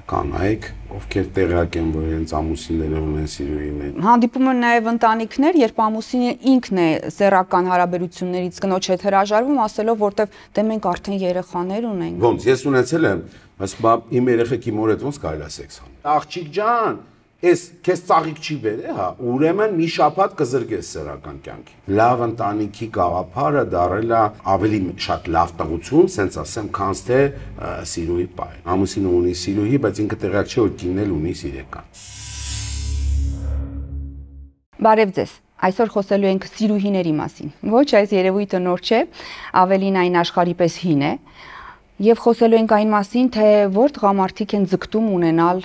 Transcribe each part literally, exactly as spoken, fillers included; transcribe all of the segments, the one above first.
կանայք, ովքեր տեղյակ են, որ իրենց ամուսինները ունեն սիրուհիներ։ Հանդիպում են նաև ընտանիքներ, երբ ամուսինը ինքն է սեռական հարաբերություններից կնոջ հետ հրաժարվում, ասելով, որտեվ դե մենք արդեն երեխաներ ունենք։ Ոնց, ես ունեցել եմ, ասում եմ, իմ երեխեքի մոր հետ ոնց կարելի է սեքս անել։ Աղջիկ ջան, ես քեզ ծաղիկ չի բերե, հա, ուրեմն մի շաբաթ կզրկես սեռական կյանքի։ Լավ ընտանիքի գաղափարը դարել է ավելի շատ լավ տղություն, սենց ասեմ, քան թե սիրուհի պայ։ Ամուսինը ունի սիրուհի, բայց ինքը տեղյակ չէ, որ կինն էլ ունի սիրեկան։ Բարև ձեզ։ Այսօր խոսելու ենք սիրուհիների մասին։ Ոչ, այս երևույթը նոր չէ, ավելին այն աշխարհի պես հին է, եւ խոսելու ենք այն մասին, թե որ տղամարդիկ են ձգտում ունենալ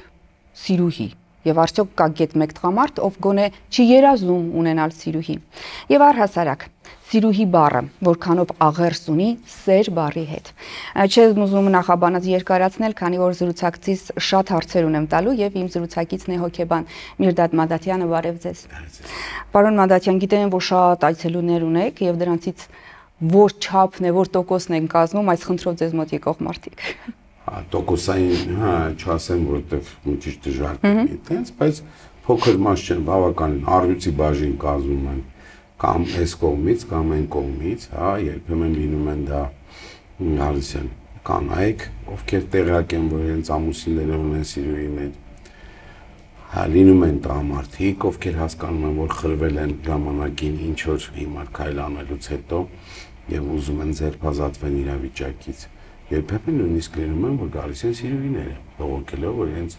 սիրուհի։ Եվ արդյոք կա գետ մեկ տղամարդ, ով գոնե չի երազում ունենալ սիրուհի։ Եվ առհասարակ, սիրուհի բառը, որքանով աղերս ունի սեր բառի հետ։ Չեմ ուզում նախաբանած երկարացնել, քանի որ զրուցակցից շատ հարցեր ունեմ տալու եւ իմ զրուցակիցն է հոգեբան Միրդադ Մադաթյանը, բարև ձեզ։ Պարոն Մադաթյան, գիտեմ, որ շատ այցելուներ ունեք եւ դրանցից որ չափն է, որ տոկոսն են կազմում այս խնդրով ձեզ մոտ եկող մարդիկ։ Տոկոսային, հա, չասեմ, որովհետև մի քիչ դժվար է այդպես, բայց փոքր մաս չեն, բավականին առյուծի բաժին կազմում են կամ այս կողմից, կամ այն կողմից, հա, երբեմն լինում են դա գալիս են կանայք, ովքեր տեղյակ են, որ իրենց ամուսինները ունեն սիրուհիներ, հա, լինում են տղամարդիկ, ովքեր հասկանում են, որ խրվել են ժամանակին ինչ որ հիմար քայլ անելուց հետո եւ ուզում են ձերբազատվեն իրավիճակից։ Երբեմն նույնիսկ լինում են, որ գալիս են սիրուհիները, բողոքելով, որ իրենց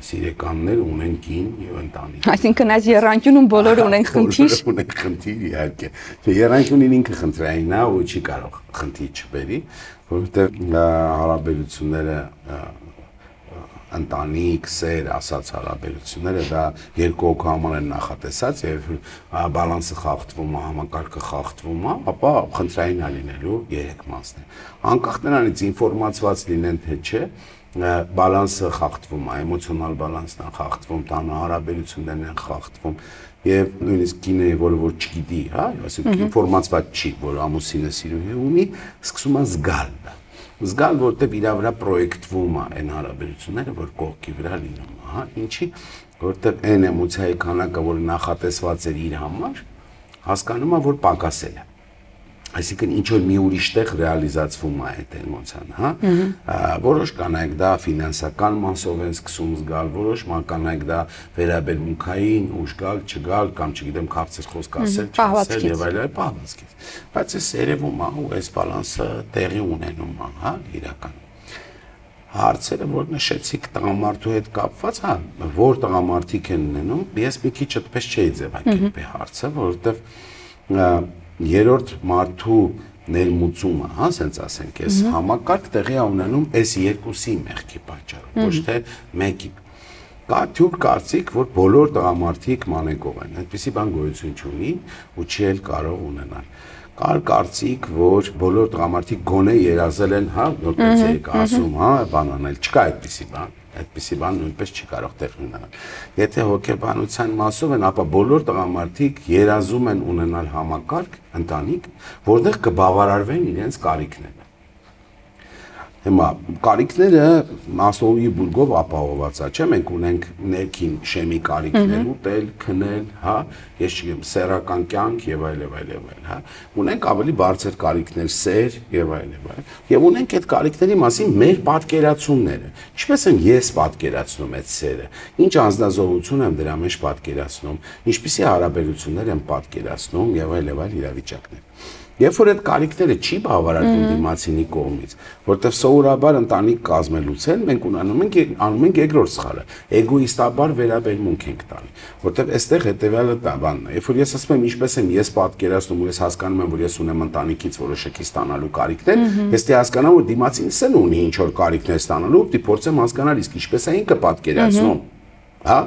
սիրեկաններ ունեն կին եւ ընտանիք։ Այսինքն այս եռանկյունում բոլորը ունեն խնդիր։ Ունեն խնդիր, իհարկե։ Եռանկյունին ինքը խնդրային է ու չի կարող խնդիր չբերի, որովհետեւ հարաբերությունները ընտանիք, սեր, ասած հարաբերությունները դա երկու հոգու համար են նախատեսած եւ բալանսը խախտվում է, համակարգը խախտվում է, ապա խնդրային է լինելու երեք մասն է։ Անկախ նրանից ինֆորմացված լինեն թե չէ, բալանսը խախտվում է, էմոցիոնալ բալանսն է խախտվում, տանը հարաբերություններն են խախտվում եւ նույնիսկ կինը, որը որ չգիտի, հա, այսինքն ինֆորմացված չի, որ ամուսինը սիրուհի ունի, սկսում է զգալ դա։ Զգալ, որտեվ իրա վրա պրոյեկտվում է այն հարաբերությունները, որ կողքի վրա լինում է, հա, ինչի, որտեվ այն էմոցիայի քանակը, որ նախատեսված էր իր համար, հասկանում է, որ պակասել է։ Այսինքն ինչ որ մի ուրիշ տեղ ռեալիզացվում է այդ էմոցիան, հա։ Որոշ կանայք դա ֆինանսական մասով են սկսում զգալ, որոշ կանայք դա վերաբերմունքային, ուժ գալ, չգալ կամ չգիտեմ քաղցր խոսք ասել, չասել եւ այլն, պահվածքից։ Բայց այս երևում է ու այս բալանսը տեղի ունենում է, հա, իրականում։ Հարցերը, որ նշեցիք տղամարդու հետ կապված, հա, որ տղամարդիկ են ունենում, ես մի քիչ այդպես չէի ձևակերպի հարցը, որովհետեւ երրորդ մարդու ներմուծումը, հա, ասենց ասենք, այս համակարգ տեղի է ունենում այս երկուսի մեղքի պատճառով, ոչ թե մեկի։ Կա թյուր կարծիք, որ բոլոր տղամարդիկ մանեկով են, այդպիսի բան գոյություն չունի ու չի էլ կարող ունենալ։ Կար կարծիք, որ բոլոր տղամարդիկ գոնե երազել են, հա, որպես եք ասում, հա, բան անել, չկա այդպիսի բան։ Այդպիսի բան նույնպես չի կարող տեղ ունենալ։ Եթե հոգեբանության մասով են, ապա բոլոր տղամարդիկ երազում են ունենալ համակարգ, ընտանիք, որտեղ կբավարարվեն իրենց կարիքները։ Հիմա կարիքները Մասլոուի բուրգով ապահովված է, չէ՞, մենք ունենք ներքին շեմի կարիքներ, ուտել, քնել, հա, ես չգիտեմ, սեռական կյանք եւ այլ եւ այլ եւ այլ, հա։ Ունենք ավելի բարձր կարիքներ, սեր եւ այլ եւ այլ։ Եվ ունենք այդ կարիքների մասին մեր պատկերացումները։ Ինչպես եմ ես պատկերացնում այդ սերը, ինչ անձնազոհություն եմ դրա մեջ պատկերացնում, ինչպիսի հարաբերություններ եմ պատկերացնում եւ այլ եւ այլ իրավիճակներ։ Երբ որ այդ կարիքները չի բավարարվում դիմացինի կողմից, որտեղ սովորաբար ընտանիք կազմելուց են, մենք ունենում ենք անում ենք երկրորդ սխալը, էգոիստաբար վերաբերմունք ենք տալի, որտեղ այստեղ հետեւյալը դա բանն է։ Երբ որ ես ասում եմ ինչպես եմ ես պատկերացնում ու ես հասկանում եմ, որ ես ունեմ ընտանիքից որոշակի ստանալու կարիքներ, ես դե հասկանամ, որ դիմացինս էլ ունի ինչ որ կարիքներ ստանալու, դի փորձեմ հասկանալ իսկ ինչպես է ինքը պատկերացնում, հա։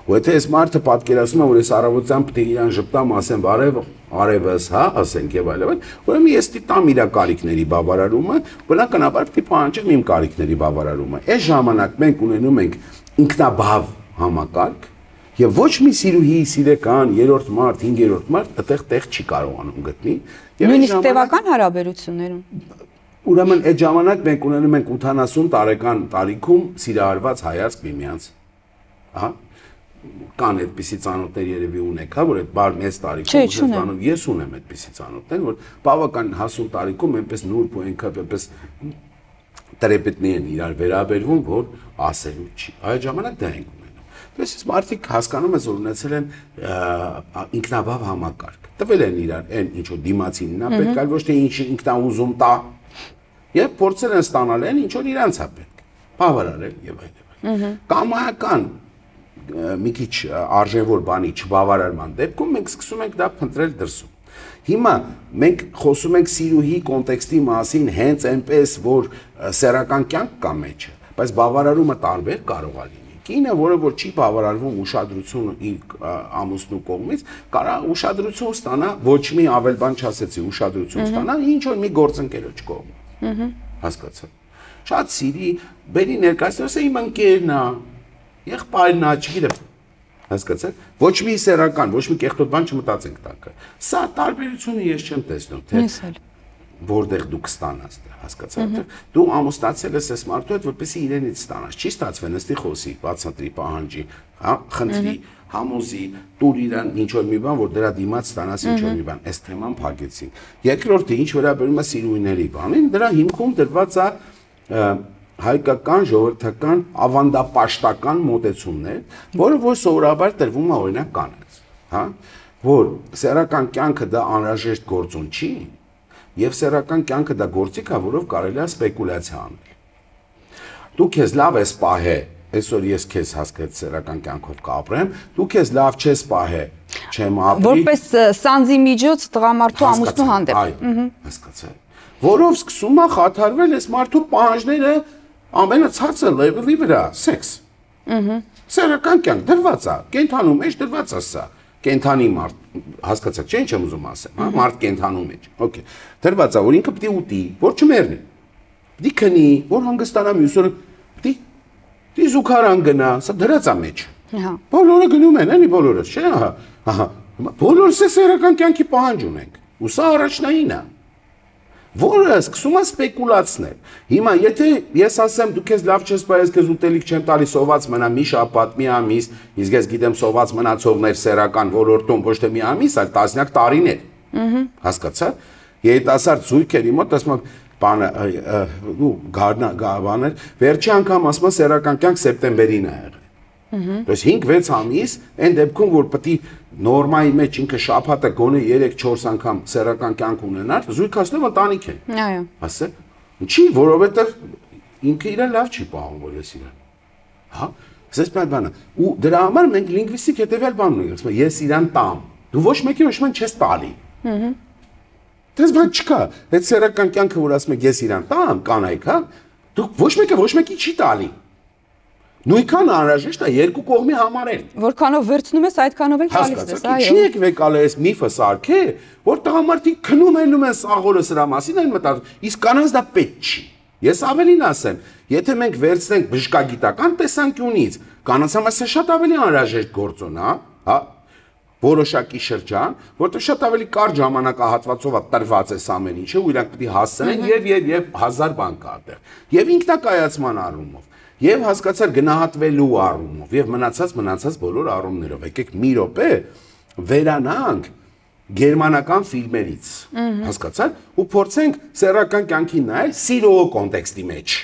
Ու եթե այս մարդը պատկերացնում է, որ ես առավոտյան պետք է իրան ժպտամ, ասեմ բարև, արևս, հա, ասենք եւ այլն, ուրեմն ես դիտամ իր կարիքների բավարարումը, բնականաբար պետք է պահանջեմ իմ կարիքների բավարարումը։ Այս ժամանակ մենք ունենում ենք ինքնաբավ համակարգ եւ ոչ մի սիրուհի, սիրեկան, երրորդ մարդ, հինգերորդ մարդ այդտեղ տեղ չի կարողանում գտնի։ Նույնիսկ տևական հարաբերություններում։ Ուրեմն այդ ժամանակ մենք ունենում ենք ութանասուն տարեկան տարիքում սիրահարված հայացք միմյանց։ Ահա կան այդպիսի ծանոթներ երևի ունեք, հա, որ այդ բար մեծ տարիքում զբաղվում, ես ունեմ այդպիսի ծանոթներ, որ բավական հասուն տարիքում այնպես նուրբ ու այնքան այնպես տրեպետներ են իրար վերաբերվում, որ ասելու չի։ Այդ ժամանակ դա ենք ունենում։ Դες մարդիկ հասկանում են, որ ունեցել են ինքնաբավ համակարգ։ Տվել են իրար այն ինչ որ դիմացինն է պետք, այլ ոչ թե ինչ ինքնա ուզում տա։ Եվ փորձել են ստանալ այն ինչ որ իրանց է պետք։ Բավարարել եւ այլն։ Կամայական մի քիչ արժևոր բանի չբավարարման դեպքում մենք սկսում ենք դա փնտրել դրսում։ Հիմա մենք խոսում ենք սիրուհի կոնտեքստի մասին հենց այնպես, որ սեռական կյանք կա մեջը, բայց բավարարումը տարբեր կարող է լինի։ Կինը, որը որ չի բավարարվում ուշադրությունը իր ամուսնու կողմից, կարա ուշադրություն ստանա, ոչ մի ավել բան չասեցի, ուշադրություն ստանա ինչ որ մի գործընկերոջ կողմից։ Հասկացա։ Շատ սիրի, բերի ներկայացնես է իմ ընկերն է, եղբայրն է, չգիտեմ։ Հասկացաք։ Ոչ մի սեռական, ոչ մի կեղտոտ բան չմտածենք տակը։ Սա տարբերությունը ես չեմ տեսնում, թե որտեղ դու կստանաս դա, հասկացաք։ Դու ամուսնացել ես այս մարդու հետ, որպեսզի իրենից ստանաս։ Չի ստացվել, նստի խոսի, բացատրի, պահանջի, հա, խնդրի, համոզի, տուր իրան ինչ որ մի բան, որ դրա դիմաց ստանաս ինչ որ մի բան։ Այս թեման փակեցինք։ Երկրորդը, ինչ վերաբերում է սիրուհիների բանին, դրա հիմքում դրված է հայկական ժողովրդական ավանդապաշտական մոտեցումներ, որը որ սովորաբար տրվում է օրինակ կանանց, հա, որ սեռական կյանքը դա անհրաժեշտ գործոն չի, եւ սեռական կյանքը դա գործիք է, որով կարելի է սպեկուլյացիա անել։ Դու քեզ լավ ես պահե, այսօր ես քեզ հասկացա սեռական կյանքով կապրեմ, դու քեզ լավ չես պահե, չեմ ապրի։ Որպես սանձի միջոց տղամարդու ամուսնու հանդեպ։ Այո, հասկացա։ Որով սկսում է խաթարվել այս մարդու պահանջները ամենացածը լեվելի վրա, սեքս։ Ահա։ Սեռական կյանք դրված է, կենթանու մեջ դրված է սա։ Կենթանի մարդ, հասկացաք, չէ՞ ինչ եմ ուզում ասեմ, հա, մարդ կենթանու մեջ։ Okay։ Դրված է, որ ինքը պիտի ուտի, որ չմեռնի։ Պիտի քնի, որ հանգստանա մյուս օրը, պիտի պիտի զուգարան գնա, սա դրած է մեջ։ Հա։ Բոլորը գնում են, էլի բոլորը, չէ՞, ահա։ Ահա։ Բոլորս սեռական կյանքի պահանջ ունենք։ Ու սա առաջնային է։ Որը սկսում է սպեկուլացնել։ Հիմա եթե ես ասեմ դու քեզ լավ չես պահես, քեզ ուտելիք չեմ տալի, սոված մնա մի շաբաթ, մի ամիս, իսկ ես գիտեմ սոված մնացողներ սեռական ոլորտում ոչ թե մի ամիս, այլ տասնյակ տարիներ։ Հասկացա՞։ Երիտասարդ զույգերի մոտ ասում եմ, բանը, ու գարնա գաբաներ, վերջի անգամ ասում եմ սեռական կյանք սեպտեմբերին է եղել։ Դες հինգ-վեց ամիս, այն դեպքում որ պետք է նորմայի մեջ ինքը շաբաթը գոնե երեք-չորս անգամ սեռական կյանք ունենար, զույգացնով ընտանիք է։ Այո։ Ասե։ Ինչի, որովհետև ինքը իրան լավ չի պահում, որ ես իրան։ Հա, ասես բան բանը։ Ու դրա համար մենք լինգվիստիկ հետևյալ բան ունենք, ասում ես իրան տամ։ Դու ոչ մեկի ոչ ման չես տալի։ Հհ։ Դες բան չկա։ Այդ սեռական կյանքը որ ասում եք ես իրան տամ, կանայք, հա։ Դու ոչ մեկը ոչ մեկի չի տալի։ Նույնքան անհրաժեշտ է երկու կողմի համարել։ Որքանով վերցնում ես, այդքանով էլ տալիս ես, այո։ Չի եկվեք ալը այս միֆը սարքե, որ տղամարդիկ քնում ելնում են սաղորը սրա մասին այն մտածում, իսկ կանանց դա պետք չի։ Ես ավելին ասեմ, եթե մենք վերցնենք բժշկագիտական տեսանկյունից, կանանց համար սա շատ ավելի անհրաժեշտ գործոն է, հա, որոշակի շրջան, որտեղ շատ ավելի կարճ ժամանակահատվածով է տրված այս ամեն ինչը, ու իրանք պետք է հասցնեն եւ եւ եւ հազար բան կա այդտեղ։ Եվ ինքնակայացման առումով Եվ հասկացար գնահատվելու առումով եւ մնացած մնացած բոլոր առումներով։ Եկեք մի րոպե վերանանք գերմանական ֆիլմերից։ Հասկացար ու փորձենք սեռական կյանքին նայել սիրո կոնտեքստի մեջ։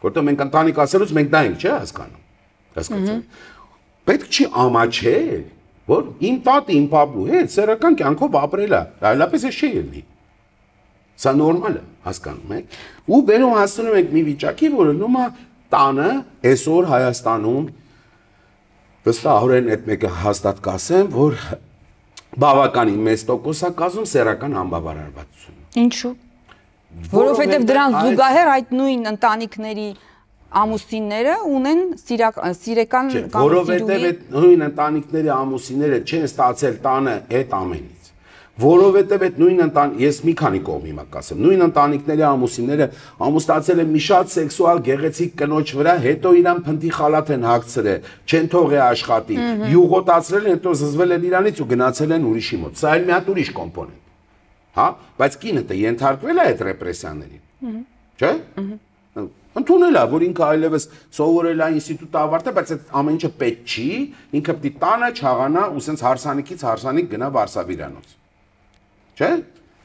Որտեղ մենք ընտանիք ասելուց մենք դա ենք, չէ՞ հասկանում։ Հասկացար։ Պետք չի ամաչել, որ իմ տատը իմ պապու հետ սեռական կյանքով ապրել է։ Այլապես է չի ելնի։ Սա նորմալ է, հասկանում եք։ Ու վերում հասնում ենք մի վիճակի, որը նոմա տանը այսօր Հայաստանում վստահորեն այդ մեկը հաստատ կասեմ, որ բավականին մեծ տոկոս է կազմում սեռական անբավարարվածություն։ Ինչու՞։ Որովհետև դրան զուգահեռ այդ նույն ընտանիքների ամուսինները ունեն սիրական կամ որովհետև այդ նույն ընտանիքների ամուսինները չեն ստացել տանը այդ ամենից։ Որովհետև այդ նույն ընտան ես մի քանի կողմի մա կասեմ նույն ընտանիքների ամուսինները ամուսնացել են մի շատ սեքսուալ գեղեցիկ կնոջ վրա, հետո իրան փնթի խալաթ են հագցրել, չեն թողել աշխատի, յուղոտացրել են, հետո զզվել են իրանից ու գնացել են ուրիշի մոտ։ Սա էլ մի հատ ուրիշ կոմպոնենտ։ Հա, բայց կինը դե ենթարկվել է այդ ռեպրեսիաներին։ չէ՞։ Ընդունել է, որ ինքը այլևս սովորել է ինստիտուտը ավարտել, բայց այդ ամեն ինչը պետք չի, ինքը պիտի տանը, չաղանա ու սենց հարսանիքից հարսանիք գնա Վարշավիրանոց։ Չէ՞։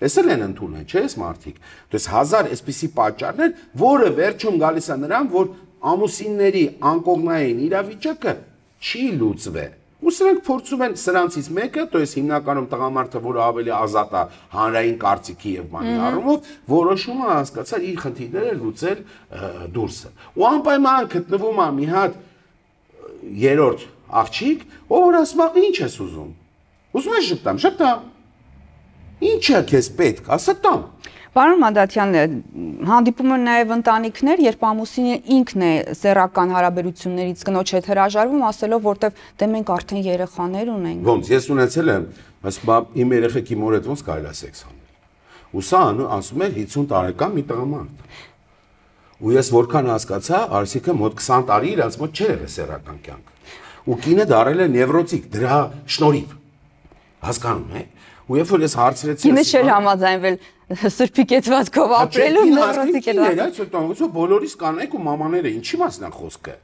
Էս էլ են ընդունել, չէ՞, այս մարդիկ։ Դες հազար այսպիսի պատճառներ, որը վերջում գալիս է նրան, որ ամուսինների անկողնային իրավիճակը չի լուծվե։ Ու սրանք փորձում են սրանցից մեկը, то есть հիմնականում տղամարդը, որը ավելի ազատ է հանրային կարծիքի եւ բանի առումով, որոշում է հասկացալ իր խնդիրները լուծել դուրսը։ Ու անպայման գտնվում է մի հատ երրորդ աղջիկ, ով ասում է ինչ ես ուզում։ Ուզում ես շփտամ, շփտամ։ Ինչա քեզ պետք, ասա տամ։ Պարոն Մանդատյան, հանդիպում են նաև ընտանիքներ, երբ ամուսինը ինքն է սեռական հարաբերություններից կնոջ հետ հրաժարվում, ասելով, որտեվ դե մենք արդեն երեխաներ ունենք։ Ոնց, ես ունեցել եմ, ասում եմ, իմ երեխեքի մոր հետ ոնց կարելի է սեքս անել։ Ու սա ասում էր հիսուն տարեկան մի տղամարդ։ Ու ես որքան հասկացա, Արսիկը մոտ քսան տարի իրանց մոտ չէր եղել սեռական կյանք։ Ու կինը դարել է նևրոտիկ, դրա շնորհիվ։ Հասկանում եք։ Ու երբ որ ես հարցրեցի, ինձ չէր համաձայնվել սրբի կեցվածքով ապրելու նևրոտիկ էր։ Այդ սոտանգուցը բոլորիս կանայք ու մամաները ինչի մասն է խոսքը։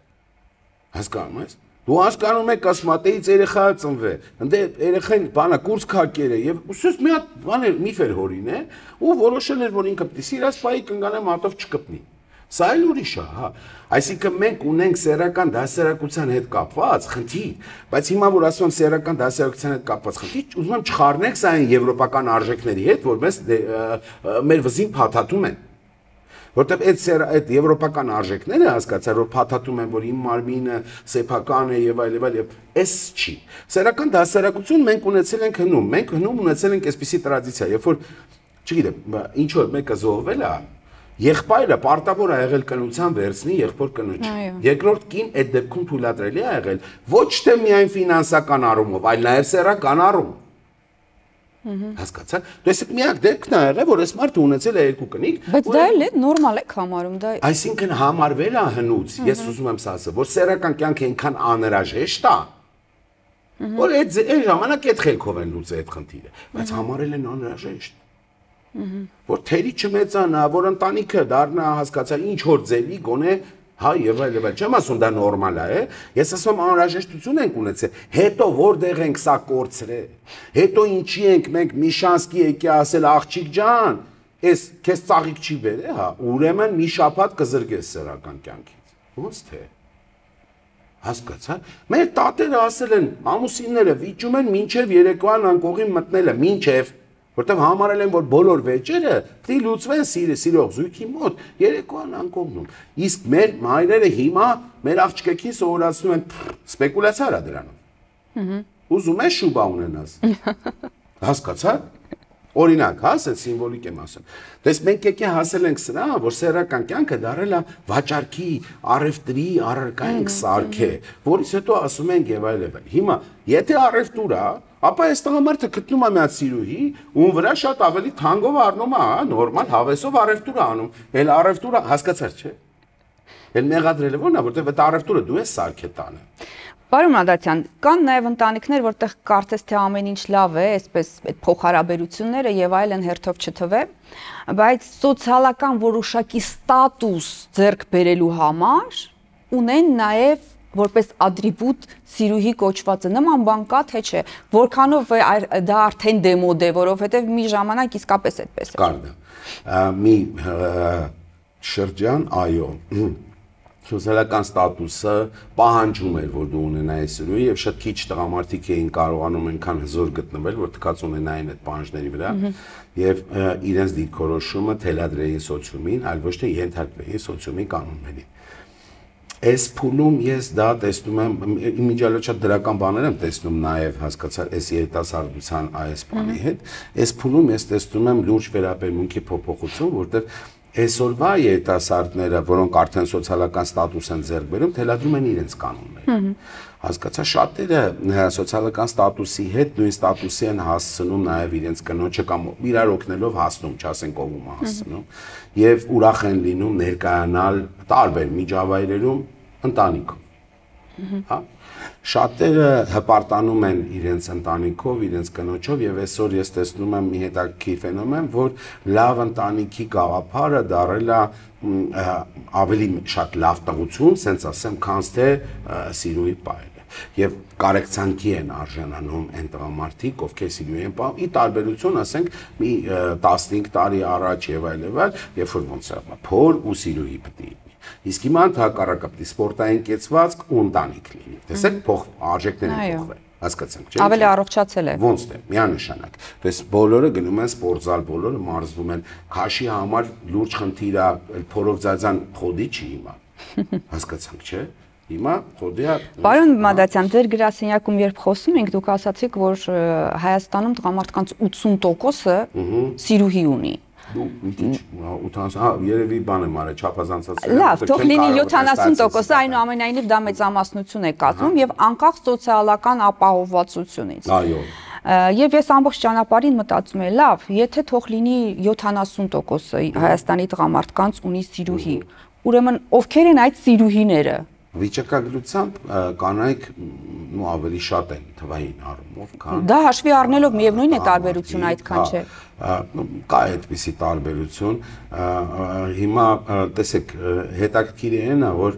Հասկանում ես։ Դու հասկանում ես կասմատեից երեխա ծնվե։ Ընդ երեխան բանա կուրս քակերը եւ ուսուս մի հատ բան էր միֆ էր հորին է ու որոշել էր որ ինքը պիտի սիրած պայի կնգանե մատով չկպնի։ Սա էլ ուրիշ է, հա։ Այսինքն մենք ունենք սեռական դասերակցության հետ կապված խնդիր, բայց հիմա որ ասում եմ սեռական դասերակցության հետ կապված խնդիր, ուզում եմ չխառնենք սա այն եվրոպական արժեքների հետ, որ մեզ մեր վզին փաթաթում են։ Որտեւ այդ այդ եվրոպական արժեքները հասկացա, որ փաթաթում են, որ իմ մարմինը սեփական է եւ այլ եւ այլ, էս չի։ Սեռական դասերակցություն մենք ունեցել ենք հնում, մենք հնում ունեցել ենք այսպիսի տրադիցիա, երբ որ չգիտեմ, ինչ որ մեկը զոհվել է, եղբայրը պարտավոր է եղել կնության վերցնի եղբոր կնոջ։ Երկրորդ կին այդ դեպքում թույլատրելի է եղել ոչ թե միայն ֆինանսական առումով, այլ նաև սեռական առումով։ Հասկացա՞։ Դες միակ դեպքն է եղել, որ այս մարդը ունեցել է երկու կնիկ։ Բայց դա էլ է նորմալ է համարում, դա։ Այսինքն համարվել է հնուց, ես ուզում եմ ասել, որ սեռական կյանքը այնքան անհրաժեշտ է, որ այդ այդ ժամանակ այդ խելքով են լուծել այդ խնդիրը, բայց համարել են անհրաժեշտ։ Որ թերի չմեծանա, որ ընտանիքը դառնա, հասկացա, ինչ որ ձևի գոնե հա եւ այլ եւ այլ, չեմ ասում դա նորմալ է, ես ասում եմ անհրաժեշտություն ենք ունեցել, հետո որտեղ ենք սա կորցրել, հետո ինչի ենք մենք մի շանսկի եկի ասել աղջիկ ջան, էս քեզ ծաղիկ չի բերե, հա, ուրեմն մի շաբաթ կզրկես սեռական կյանքից, ո՞նց թե հասկացա, մեր տատերը ասել են, ամուսինները վիճում են մինչև երեկոյան անկողին մտնելը, մինչև որտեվ համարել են, որ բոլոր վեճերը պիտի լուծվեն սիրող զույգի մոտ երեկոյան անկողնում։ Իսկ մեր մայրերը հիմա մեր աղջիկներին սովորացնում են սպեկուլյացիա արա դրանով։ Ուզում ես շուբա ունենաս։ Հասկացա՞։ Օրինակ, հա, ասել սիմվոլիկ եմ ասում։ Դες մենք եկե հասել ենք սրա, որ սեռական կյանքը դարել է վաճառքի, առևտրի առարկա ենք սարքե, որից հետո ասում ենք եւ այլ եւ այլ։ Հիմա, եթե առևտուր է, ապա այս տղամարդը գտնում է մի հատ սիրուհի, ում վրա շատ ավելի թանկով առնում է, հա, նորմալ հավեսով առևտուր է անում։ Էլ առևտուրը հասկացար, չէ՞։ Էլ մեղադրելը ո՞րն է, որտեվ այդ առևտուրը դու ես սարքե տանը։ Պարոն Մանդատյան, կան նաև ընտանիքներ, որտեղ կարծես թե ամեն ինչ լավ է, այսպես այդ փոխհարաբերությունները եւ այլն հերթով չթվե, բայց սոցիալական որոշակի ստատուս ձեռք բերելու համար ունեն նաև որպես ատրիբուտ սիրուհի կոչվածը, նման բան կա թե չէ, որքանով դա արդեն դեմոդ է, որովհետեւ մի ժամանակ իսկապես այդպես էր։ Կար դա։ Մի շրջան, այո, սոցիալական ստատուսը պահանջում էր, որ դու ունենայես սիրուհի եւ շատ քիչ տղամարդիկ էին կարողանում այնքան հզոր գտնվել, որ թքած ունենային այդ պահանջների վրա եւ իրենց դիրքորոշումը թելադրեին սոցիումին, այլ ոչ թե ենթարկվեին սոցիումի կանոններին։ Այս փուլում ես դա տեսնում եմ, իմիջիալը շատ դրական բաներ եմ տեսնում նաև հասկացար այս երիտասարդության այս բանի հետ, այս փուլում ես տեսնում եմ լուրջ վերաբերմունքի փոփոխություն, որտեղ այսօրվա երիտասարդները, որոնք արդեն սոցիալական ստատուս են ձեռք բերում, թելադրում են իրենց կանոնները։ Հասկացա, շատերը սոցիալական ստատուսի հետ նույն ստատուսի են հասցնում նաև իրենց կնոջը կամ իրար օգնելով հասնում, չասենք ով ում հասցնում, եւ ուրախ են լինում ներկայանալ տարբեր միջավայրերում ընտանիքում։ հա։ Շատերը հպարտանում են իրենց ընտանիքով, իրենց կնոջով եւ այսօր ես տեսնում եմ մի հետաքրքիր ֆենոմեն, որ լավ ընտանիքի գաղափարը դարել է ավելի շատ լավ տղություն, ասենց ասեմ, քան թե սիրուի պայելը։ Եվ կարեկցանքի են արժանանում այն տղամարդիկ, ովքեր սիրուի են պահում, ի տարբերություն, ասենք, մի տասնհինգ տարի առաջ եւ այլ եւ այլ, երբ որ ոնց է, փոր ու սիրուի պետք է։ Իսկ հիմա հակառակը պետք է սպորտային կեցվածք ու ընտանիք լինի։ Տեսեք, փոխ արժեքները փոխվել։ Հասկացանք, չէ՞։ Ավելի առողջացել է։ Ոնց է, միանշանակ։ Պես բոլորը գնում են սպորտզալ, բոլորը մարզվում են։ Քաշի համար լուրջ խնդիր է, փորով ձազան խոդի չի հիմա։ Հասկացանք, չէ՞։ Հիմա խոդիա։ Պարոն Մադացյան, ձեր գրասենյակում երբ խոսում ենք, դուք ասացիք, որ Հայաստանում տղամարդկանց ութսուն տոկոսը սիրուհի ունի։ Դու ինչ ութանասուն, հա, երևի բան եմ արել, չափազանցած։ Լավ, թող լինի յոթանասուն տոկոս, այնուամենայնիվ դա մեծամասնություն է կազմում եւ անկախ սոցիալական ապահովվածությունից։ Այո։ Եվ ես ամբողջ ճանապարհին մտածում եմ, լավ, եթե թող լինի յոթանասուն տոկոսը Հայաստանի տղամարդկանց ունի սիրուհի, ուրեմն ովքեր են այդ սիրուհիները։ Վիճակագրությամբ կանայք ու ավելի շատ են թվային առումով, քան դա հաշվի առնելով միևնույն է տարբերությունը այդքան չէ։ Կա այդպիսի տարբերություն, հիմա տեսեք հետաքրքիր է նա, որ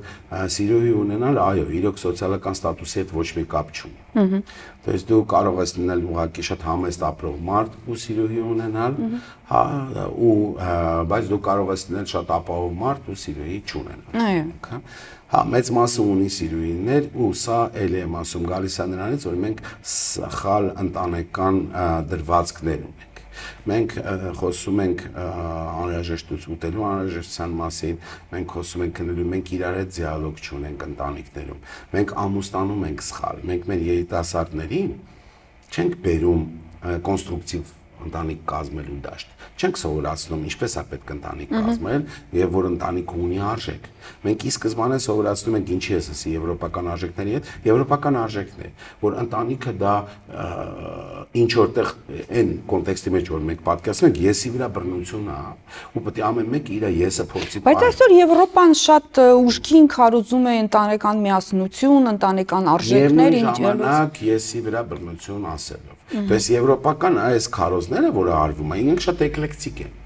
սիրուհի ունենալ, այո, իրոք սոցիալական ստատուսի հետ ոչ մի կապ չունի։ То есть դու կարող ես լինել ուղղակի շատ համեստ ապրող մարդ ու սիրուհի ունենալ, հա, ու բայց դու կարող ես լինել շատ ապահով մարդ ու սիրուհի չունենալ։ Այո։ Հա, մեծ մասը ունի սիրուհիներ ու սա էլ եմ ասում գալիս է նրանից, որ մենք սխալ ընտանեկան դրվածքներ ունենք։ Մենք խոսում ենք անհրաժեշտություն ուտելու անհրաժեշտության մասին, մենք խոսում ենք քնելու, մենք իրար հետ դիալոգ չունենք ընտանիքներում։ Մենք ամուսնանում ենք սխալ, մենք մեր երիտասարդներին չենք բերում կոնստրուկտիվ ընտանիք կազմելու դաշտ։ Չենք սովորացնում ինչպես է պետք ընտանիք կազմել եւ որ ընտանիքը ունի արժեք։ Մենք ի սկզբանե սովորացնում ենք ինչի է ասի եվրոպական արժեքների հետ, եվրոպական արժեքներ, որ ընտանիքը դա ինչ որտեղ այն կոնտեքստի մեջ որ մենք պատկերացնում ենք, եսի վրա բռնություն է, ու պետք է ամեն մեկը իր եսը փորձի։ Բայց այսօր Եվրոպան շատ ուժգին քարոզում է ընտանեկան միասնություն, ընտանեկան արժեքներ, ինչ ժամանակ եսի վրա բռնություն ասելով։ Պես եվրոպական այս քարոզները, որը արվում է, ինքը շատ էկլեկտիկ են։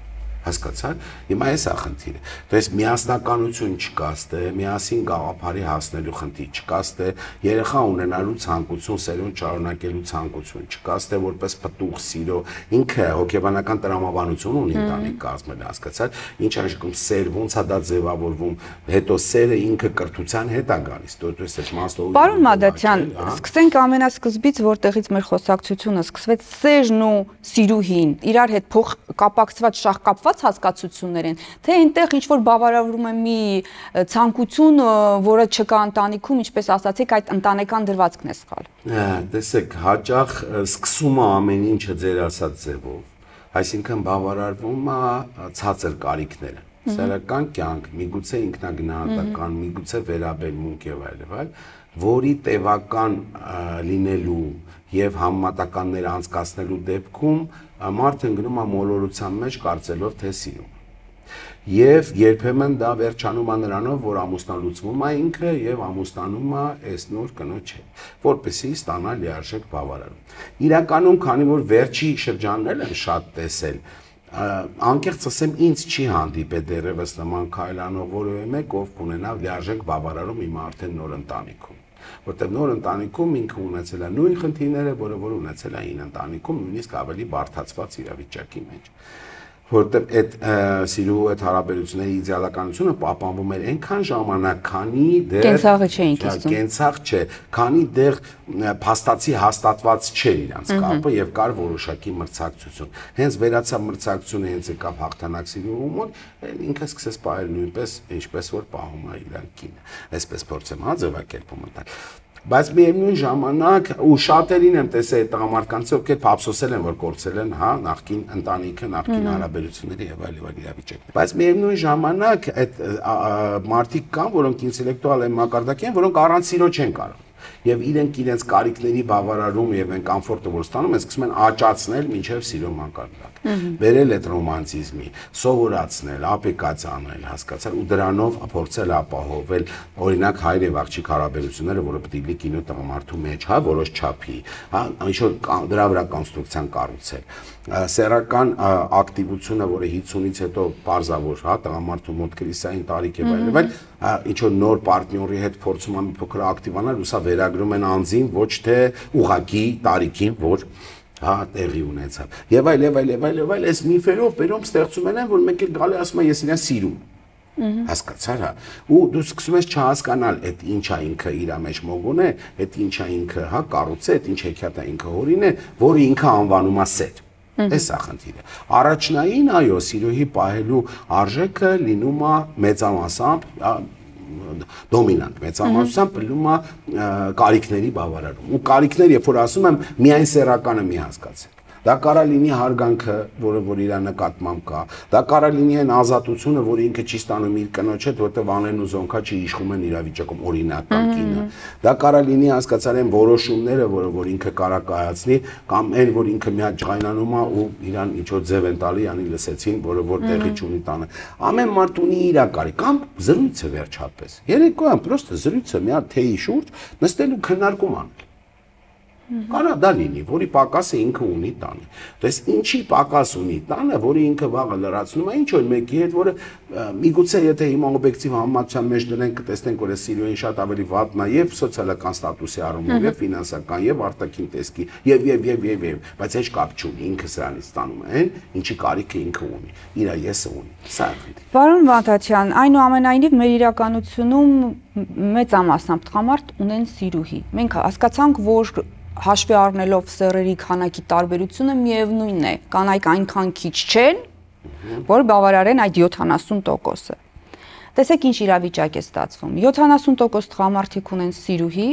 Հասկացա՞ք։ Հիմա էս է խնդիրը։ То есть միասնականություն չկա, ստե միասին գաղափարի հասնելու խնդիր չկա, ստե երեխա ունենալու ցանկություն, սերունդ շարունակելու ցանկություն չկա, ստե որպես պտուղ սիրո, ինքը հոգեբանական տրամաբանություն ունի ընտանիք կազմել, հասկացա՞ք։ Ինչ աշխում սեր, ոնց է դա ձևավորվում, հետո սերը ինքը կրթության հետ է գալիս, то есть այդ մասով։ Պարոն Մադացյան, սկսենք ամենասկզբից, որտեղից մեր խոսակցությունը սկսվեց, սերն ու սիրուհին իրար հետ փոխ կապակցված շահկապված հասկացություններ են, թե այնտեղ ինչ որ բավարարվում է մի ցանկություն, որը չկա ընտանիքում, ինչպես ասացիք, այդ ընտանեկան դրվածքն է սխալ։ Տեսեք, հաճախ սկսում է ամեն ինչը ձեր ասած ձևով, այսինքն բավարարվում է ցածր կարիքները, սեռական կյանք, միգուցե ինքնագնահատական, միգուցե վերաբերմունք եւ այլ եւ այլ, որի տևական լինելու եւ համեմատականներ անցկացնելու դեպքում մարդը ընկնում է մոլորության մեջ կարծելով թե սիրում։ Եվ երբեմն դա վերջանում է նրանով, որ ամուսնալուծվում է ինքը եւ ամուսնանում է այս նոր կնոջ հետ, որպեսզի ստանա լիարժեք բավարարում։ Իրականում, քանի որ վերջի շրջաններն եմ շատ տեսել, անկեղծ ասեմ, ինձ չի հանդիպել դեռևս նման քայլանող որևէ մեկ, ով կունենա լիարժեք բավարարում իմ արդեն նոր ընտանիքում։ Որտեղ նոր ընտանիքում ինքը ունեցել է նույն խնդիրները, որը որ ունեցել է այն ընտանիքում, նույնիսկ ավելի բարդացված իրավիճակի մեջ։ Որտեղ այդ սիրու այդ հարաբերությունների իդեալականությունը պահպանվում էր այնքան ժամանակ, քանի դեռ կենցաղը չէին կիսում։ Կենցաղ չէ, քանի դեռ փաստացի հաստատված չէր իրանց կապը եւ կար որոշակի մրցակցություն։ Հենց վերացավ մրցակցությունը, հենց եկավ հաղթանակ սիրու մոտ, ինքը սկսեց պահել նույնպես, ինչպես որ պահում է իր կինը։ Այսպես փորձեմ հա ձևակերպում տալ։ Բայց միևնույն ժամանակ ու շատերին եմ տեսել այդ տղամարդկանց, ովքեր ափսոսել են, որ կորցրել են, հա, նախկին ընտանիքը, նախկին հարաբերությունները եւ այլ եւ այլ իրավիճակներ։ Բայց միևնույն ժամանակ այդ մարդիկ կան, որոնք ինտելեկտուալ են մակարդակի են, որոնք առանց սիրո չեն կարող։ եւ իրենք իրենց կարիքների բավարարում եւ այն կոմֆորտը որ ստանում են, սկսում են աճացնել մինչեւ սիրո մակարդակ։ Բերել այդ ռոմանտիզմի, սովորացնել, ապլիկացիանել, հասկացալ ու դրանով փորձել ապահովել օրինակ հայր եւ աղջիկ հարաբերությունները, որը պետք է լինի կինո տղամարդու մեջ, հա, որոշ չափի, հա, ինչ որ դրա վրա կոնստրուկցիան կառուցել։ Սեռական ակտիվությունը, որը հինգսունից հետո բարձավոր, հա, տղամարդու մոտ կրիսային տարիք եւ այլն, այլ ինչ որ նոր պարտների հետ փորձում են փոքր ակտիվանալ, ու սա վերագրում են անձին, ոչ թե ուղակի տարիքին, որ հա տեղի ունեցավ։ Եվ այլ եւ այլ եւ այլ եւ այլ այս միֆերով բերում ստեղծում են, որ մեկ էլ գալի ասում է ես իրեն սիրում։ Հասկացար, հա։ Ու դու սկսում ես չհասկանալ, այդ ինչա ինքը իր մեջ մոգոն է, այդ ինչա ինքը, հա, կառուցե, այդ ինչ հեքիաթ է ինքը հորին է, որը ինքը անվանում է սեր։ Էս է խնդիրը։ Առաջնային, այո, սիրոհի պահելու արժեքը լինում է մեծամասամբ դոմինանտ, մեծամասամբ լինում է կարիքների բավարարում։ Ու կարիքներ, երբ որ ասում եմ, միայն սեռականը մի հասկացեք։ Դա կարա լինի հարգանքը, որը որ իր նկատմամբ կա։ Դա կարա լինի այն ազատությունը, որը ինքը չի ստանում իր կնոջ հետ, որտեղ անեն ու զոնքա չիշխում են իրավիճակում օրինական կինը։ Դա կարա լինի հասկացալ այն որոշումները, որը որ ինքը կարա կայացնի, կամ այն, որ ինքը մի հատ ջղայնանում է ու իրան ինչ որ ձև են տալի, անի լսեցին, որը որ տեղի չունի տանը։ Ամեն մարդ ունի իր կարիք, կամ զրույցը վերջապես։ Երեկոյան պրոստը զրույցը մի հատ թեյի շուրջ նստել ու քննարկում անել։ Կարա դա լինի, որի պակասը ինքը ունի տանը։ Դες ինչի պակաս ունի տանը, որը ինքը վաղը լրացնում է ինչ որ մեկի հետ, որը միգուցե եթե հիմա օբյեկտիվ համեմատության մեջ դնենք, կտեսնենք, որ սիրոյին շատ ավելի վատն է եւ սոցիալական ստատուսի առումով, եւ ֆինանսական, եւ արտաքին տեսքի, եւ եւ եւ եւ եւ, բայց heç կապ չունի, ինքը սրանից ստանում է այն, ինչի կարիքը ինքը ունի, իր եսը ունի։ Սա է։ Պարոն Վանթացյան, այնուամենայնիվ մեր իրականությունում մեծամասնամբ տղամարդ ունեն սիրուհի։ Մենք հասկացանք, որ հաշվի առնելով սեռերի քանակի տարբերությունը միևնույնն է, կանայք այնքան քիչ չեն, որ բավարարեն այդ յոթանասուն տոկոսը։ Տեսեք ինչ իրավիճակ է ստացվում։ յոթանասուն տոկոս տղամարդիկ ունեն սիրուհի,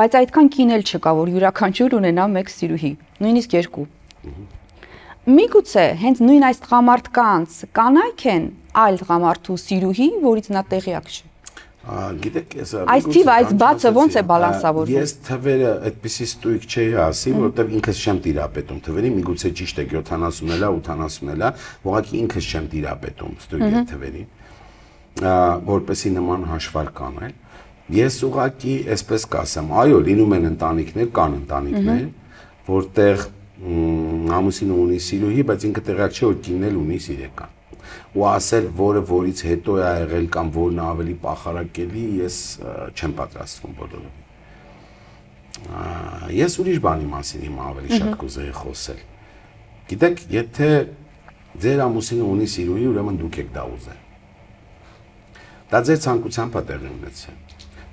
բայց այդքան կին էլ չկա, որ յուրաքանչյուր ունենա մեկ սիրուհի, նույնիսկ երկու։ Միգուցե հենց նույն այս տղամարդկանց կանայք են այլ տղամարդու սիրուհի, որից նա տեղյակ չէ։ Գիտեք, ես այս թիվը, այս բացը ոնց է բալանսավորվում։ Ես թվերը այդպեսի ստույգ չէի ասի, որովհետև ինքս չեմ տիրապետում թվերի, միգուցե ճիշտ է յոթանասուն էլ է, ութանասուն էլ է, ուղղակի ինքս չեմ տիրապետում ստույգ այդ թվերի, որպեսի նման հաշվարկ անել։ Ես ուղղակի այսպես կասեմ, այո, լինում են ընտանիքներ, կան ընտանիքներ, որտեղ ամուսինը ունի սիրուհի, բայց ինքը տեղյակ չէ, որ կինն էլ ունի սիրեկան։ Ու ասել, որը որից հետո է եղել կամ որն ավելի պախարակելի, ես չեմ պատրաստվում բոլորովին։ Ես ուրիշ բանի մասին հիմա ավելի շատ կուզեի խոսել։ Գիտեք, եթե ձեր ամուսինը ունի սիրուհի, ուրեմն դուք եք դա ուզել։ Դա ձեր ցանկությամբ է տեղի ունեցել։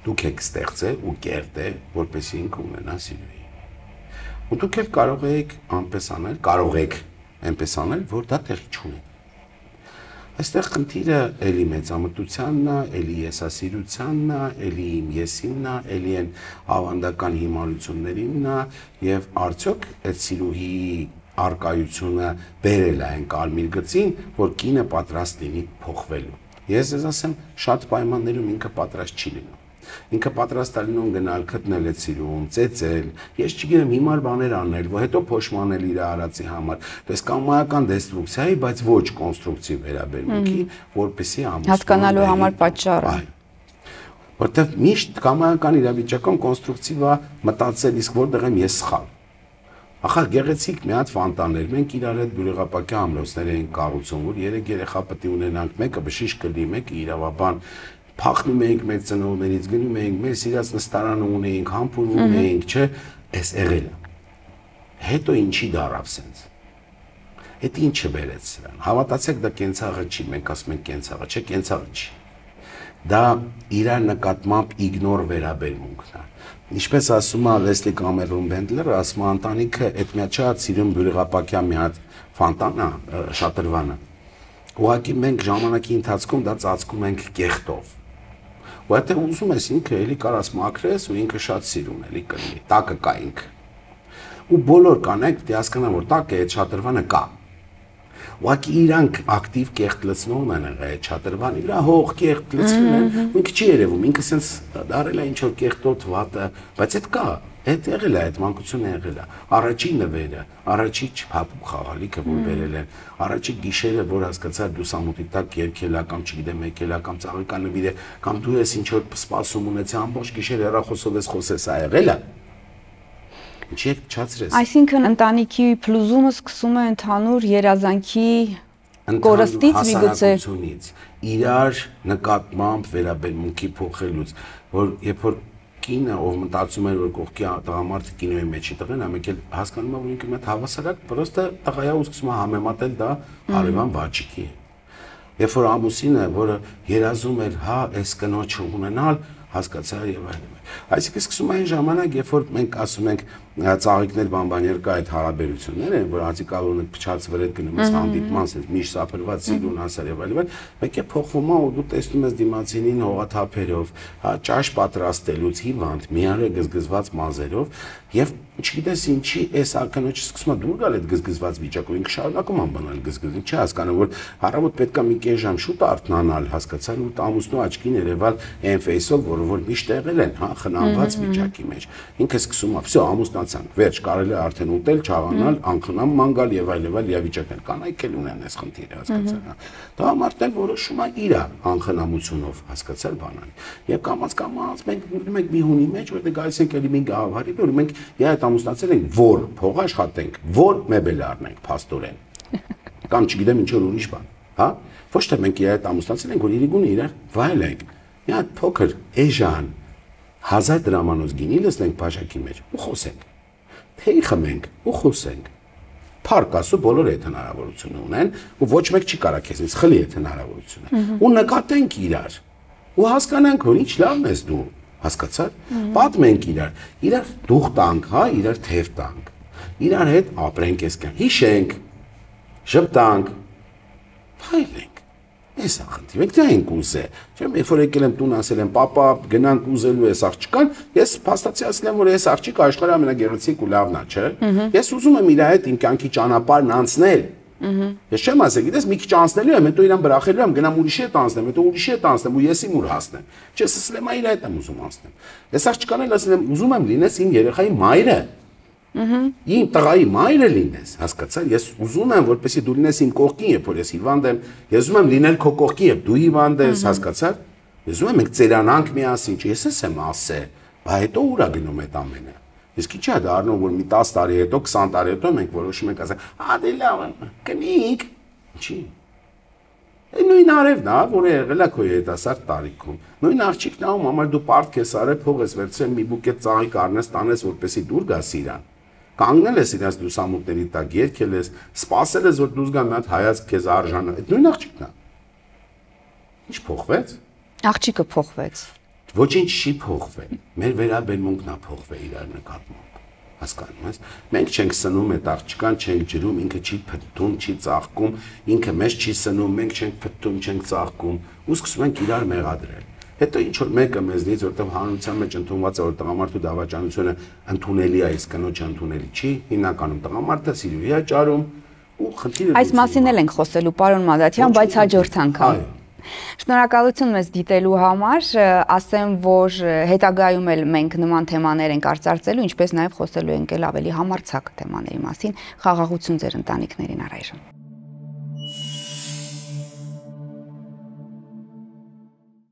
Դուք եք ստեղծել ու կերտել, որպեսզի ինքը ունենա սիրուհի։ Ու դուք էլ կարող եք այնպես անել, կարող եք այնպես անել, որ դա տեղի չունի։ Այստեղ խնդիրը էլի մեծամտությանն է, էլի եսասիրությանն է, էլի իմ եսինն է, էլի են ավանդական հիմարություններինն է, եւ արդյոք այդ սիրուհի արկայությունը բերել է այն կարմիր գծին, որ կինը պատրաստ լինի փոխվելու։ Ես ձեզ ասեմ, շատ պայմաններում ինքը պատրաստ չի լինում։ Ինքը պատրաստ է լինում գնալ գտնել այդ սիրուն, ծեծել, ես չգիտեմ հիմար բաներ անել, որ հետո փոշմանել իր արածի համար, դες կամայական դեստրուկցիայի, բայց ոչ կոնստրուկտիվ վերաբերմունքի, որպեսզի ամուսնու հասկանալու համար պատճառը։ Որտեվ միշտ կամայական իրավիճակում կոնստրուկտիվ է մտածել, իսկ որտեղ եմ ես սխալ։ Ախր գեղեցիկ մի հատ ֆանտաներ, մենք իրար հետ բյուրեղապակյա ամրոցներ էինք կառուցում, որ երեք երեխա պետք է ունենանք, մեկը բժիշկ կլինի, մեկը իրավաբան, փախնում էինք մեր ծնողներից, գնում էինք, մեր սիրած նստարանը ունեինք, համբուրում ունեինք, չէ, էս եղել է։ Հետո ինչի դարավ սենց։ Այդ ինչը բերեց սրան։ Հավատացեք, դա կենցաղը չի, մենք ասում ենք կենցաղը, չէ, կենցաղը չի։ Դա իր նկատմամբ իգնոր վերաբերմունքն է։ Ինչպես ասում է Լեսլի Կամերոն Բենդլերը, ասում է ընտանիքը այդ միաչած սիրուն բյուրեղապակյա մի հատ ֆանտանա, շատրվանը։ Ուղղակի մենք ժամանակի ընթացքում դա ծածկում ենք կեղտով։ Ու եթե ուզում ես ինքը էլի կարաս մաքրես ու ինքը շատ սիրուն էլի կլինի, տակը կա ինքը։ Ու բոլոր կանայք պետք է հասկանան, որ տակը այդ շատրվանը կա։ ուղղակի իրանք ակտիվ կեղտ լցնողն են եղել, չատրվան, իրա հող կեղտ լցնում են, ինքը չի երևում, ինքը սենց դարել է ինչ որ կեղտոտ վատը, բայց այդ կա, այդ եղել է, այդ մանկությունը եղել է, առաջի նվերը, առաջի չփափուկ խաղալիքը, որ բերել են, առաջի գիշերը, որ հասկացար լուսամուտի տակ երգելա կամ չգիտեմ եկելա կամ ծաղիկանվիր է, կամ դու ես ինչ որ սպասում ունեցա ամբողջ գիշեր հեռախոսով ես խոսես, ա եղել է։ Ինչի եք փչացրես։ Այսինքն ընտանիքի փլուզումը սկսում է ընդհանուր երազանքի կորստից միգուցե իրար նկատմամբ վերաբերմունքի փոխելուց, որ երբ որ կինը ով մտածում էր որ կողքի տղամարդը կինոյի մեջի տղեն, ամենք էլ հասկանում է որ ինքը մեծ հավասարակ, պրոստը տղայա ու սկսում է համեմատել դա հարևան բաճիկի։ Երբ որ ամուսինը, որը երազում էր, հա, այս կնոջը ունենալ, հասկացա եւ այլն։ Այսինքն սկսում է այն ժամանակ, երբ որ մենք ասում ենք ծաղիկներ բանբաներ կա այդ հարաբերություններ են, որ անցիկալոնը փչացվեր այդ գնում ես հանդիպման, ասես միշտ սափրված սիրուն հասար եւ այլն, մեկ է փոխվում է ու դու տեսնում ես դիմացինին հողաթափերով, հա, ճաշ պատրաստելուց հիվանդ, միարը գզգզված մազերով եւ չգիտես ինչի այս ակնոջը սկսում է դուր գալ այդ գզգզված վիճակով, ինքը շարունակում անբանալ գզգզում, չի հասկանում որ առավոտ պետք է մի կես ժամ շուտ արթնանալ, հասկացան ու ամուսնու աչքին երևալ այն ֆեյսով, որը որ միշտ եղել են, հա, խնամված վիճակի մեջ։ Ինքը սկսում է, վсё, ամուսնացանք, վերջ, կարելի է արդեն ուտել, չաղանալ, անխնամ ման գալ եւ այլ եւ այլ իրավիճակներ կանայք էլ ունեն այս խնդիրը, հասկացան։ Դա մարդն որոշում է իր անխնամությունով, հասկացալ բանան։ Եվ կամած կամած մենք մենք մի հունի մեջ, որտեղ գալիս ենք էլի մի գաղափարի, որ մենք իհա այդ ամուսնացել ենք, որ փող աշխատենք, որ մեբել առնենք, փաստորեն։ Կամ չգիտեմ ինչ որ ուրիշ բան, հա։ Ոչ թե մենք իհա այդ ամուսնացել ենք, որ իրիկունը իրար վայելենք։ Մի հատ փոքր էժան հազար դրամանոց գինի լսենք բաժակի մեջ ու խոսենք։ Թեյ խմենք ու խոսենք։ Փառք ասու բոլորը այդ հնարավորությունը ունեն ու ոչ մեկ չի կարա քեզից խլի այդ հնարավորությունը։ Ու նկատենք իրար ու հասկանանք որ ինչ լավն ես դու, հասկացար։ Պատմենք իրար, իրար դուխ տանք, հա, իրար թև տանք։ Իրար հետ ապրենք այսքան, հիշենք, շփտանք, փայլենք։ Ես ախնդի, մենք դա ենք ուզել։ Չեմ, երբ որ եկել եմ տուն ասել եմ, պապա, գնանք ուզելու ես աղջկան, ես փաստացի ասել եմ, որ ես աղջիկ աշխարհի ամենագեղեցիկ ու լավն է, չէ։ Ես ուզում եմ իր հետ իմ կյանքի ճանապարհն անցնել։ Ես չեմ ասել, գիտես, մի քիչ անցնելու եմ, հետո իրան բրախելու եմ, գնամ ուրիշի հետ անցնեմ, հետո ուրիշի հետ անցնեմ ու ես իմ ուր հասնեմ։ Չես ասել եմ, իր հետ եմ ուզում անցնեմ։ Ես աղջկան էլ ասել եմ, ուզում եմ լինես իմ երեխայի մայրը։ Իմ տղայի մայրը լինես, հասկացար, ես ուզում եմ, որպեսզի դու լինես իմ կողքին, երբ որ ես հիվանդ եմ, ես ուզում եմ լինել քո կողքին, երբ դու հիվանդ ես, հասկացար։ Ես ուզում եմ մենք ծերանանք միասին, չէ՞, ես եմ ասել, բա հետո ուր է գնում այդ ամենը։ Իսկ ի՞նչ է դառնում, որ մի տասը տարի հետո, քսան տարի հետո մենք որոշում ենք ասել, «Ա դե լավ է, կնիկ»։ Ինչի։ Այդ նույն արևն է, որը եղել է քո երիտասարդ տարիքում։ Նույն աղջիկն է, ում համար դու պարտք ես արել, փող ես վերցրել, մի բուկետ ծաղիկ առնես, տանես, որպեսզի դուր գաս իրան։ Կանգնել ես իրաց լուսամուտների տակ, երգել ես, սպասել ես, որ դուրս գա մի հատ հայացք քեզ արժանա։ Այդ նույն աղջիկն է։ Ինչ փոխվեց։ Աղջիկը փոխվեց։ Ոչինչ չի փոխվել։ Մեր վերաբերմունքն է փոխվել իրար նկատմամբ։ Հասկանում ես։ Մենք չենք սնում այդ աղջկան, չենք ջրում, ինքը չի փթթում, չի ծաղկում, ինքը մեզ չի սնում, մենք չենք փթթում, չենք ծաղկում, ու սկսում ենք իրար մեղադրել։ Հետո ինչ որ մեկը մեզնից, որտեղ հանրության մեջ ընդունված է, որ տղամարդու դավաճանությունը ընդունելի է, իսկ կնոջը ընդունելի չի, հիմնականում տղամարդը սիրուհի է ճարում ու խնդիրը։ Այս մասին էլ ենք խոսելու, պարոն Մադաթյան, բայց հաջորդ անգամ։ Շնորհակալություն մեզ դիտելու համար, ասեմ, որ հետագայում էլ մենք նման թեմաներ ենք արծարծելու, ինչպես նաև խոսելու ենք էլ ավելի համարձակ թեմաների մասին, խաղաղություն ձեր ընտանիքներին առայժմ։